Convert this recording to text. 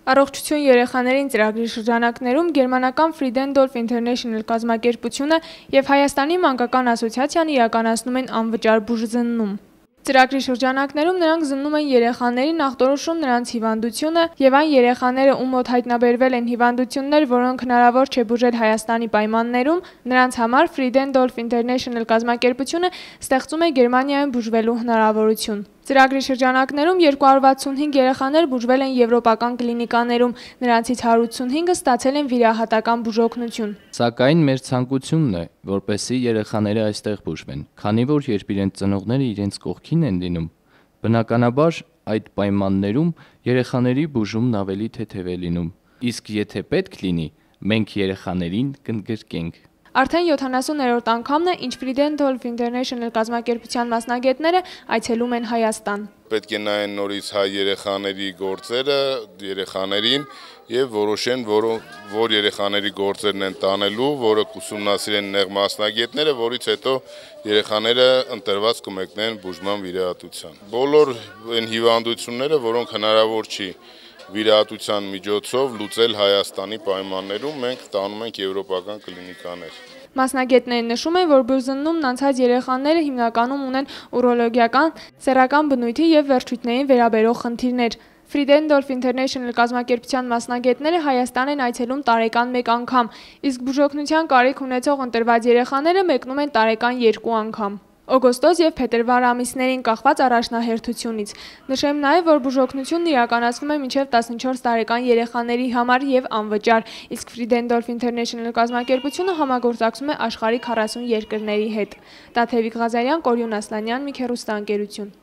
Առողջություն երեխաներին ծրագրի շրջանակներում գերմանական Friedendorf International կազմակերպությունը և Հայաստանի մանկական ասոցիացիան իրականացնում են անվճար բուժզննում։ Ծրագրի շրջանակներում նրանք զննում են երեխաներին, նախտորոշում նրանց հիվանդությունը և այն երեխաները, ում մոտ հայտնաբերվել են հիվանդություններ, որոնք հնարավոր չէ բուժել Հայաստանի պայմաններում, նրանց համար Friedendorf International կազմակերպությունը ստեղծում է Գերմանիայում բուժվելու հնարավորություն։ Ծրագրի շրջանակներում 265 երեխաներ բուժվել են եվրոպական կլինիկաներում, նրանցից 185-ը ստացել են վիրահատական բուժօգնություն։ Սակայն մեր ցանկությունն է, որպեսզի երեխաները այստեղ բուժվեն, քանի որ երբ իրենց ծնողները իրենց կողքին են լինում, բնականաբար այդ պայմաններում երեխաների բուժումն ավելի թեթև է լինում, իսկ եթե պետք լինի, մենք երեխաներին կընդգրկենք։ Արդեն 70-րդ անգամն է, ինչ Friedendorf International կազմակերպության մասնագետները այցելում են Հայաստան։ Պետք է նայեն նորից հայ երեխաների գործերը, երեխաներին եւ որոշեն, որ երեխաների գործերն են տանելու, որը կուսումնասիրեն նեղ մասնագետները, որից հետո երեխաները ընտրված կմեկնեն բուժման վիրահատության։ Բոլոր այն հիվանդությունները, որոնք հնարավոր չի վիրահատության միջոցով լուծել Հայաստանի պայմաններում, մենք տանում ենք եվրոպական կլինիկաներ։ Մասնագետներն նշում են, որ բուժզննումն անցած երեխաները հիմնականում ունեն ուրոլոգիական, սեռական բնույթի և վերջույթներին վերաբերող խնդիրներ։ Friedendorf International կազմակերպության մասնագետները Հայաստան են այցելում տարեկան 1 անգամ, իսկ բուժօգնության կարիք ունեցող ընտրված երեխաները մեկնում են տարեկան 2 անգամ։ Օգոստոս և փետրվար ամիսներին կախված առաջնահերթությունից։ Նշեմ նաև, որ բուժօգնությունն իրականացվում է մինչև 14 տարեկան երեխաների համար և անվճար, իսկ Friedendorf International կազմակերպությունը համագործակցում է աշխարհի 40 երկրների հետ։ Տաթևիկ Ղազարյան, Կորյուն Ասլանյան, մի քեռուստաընկերություն։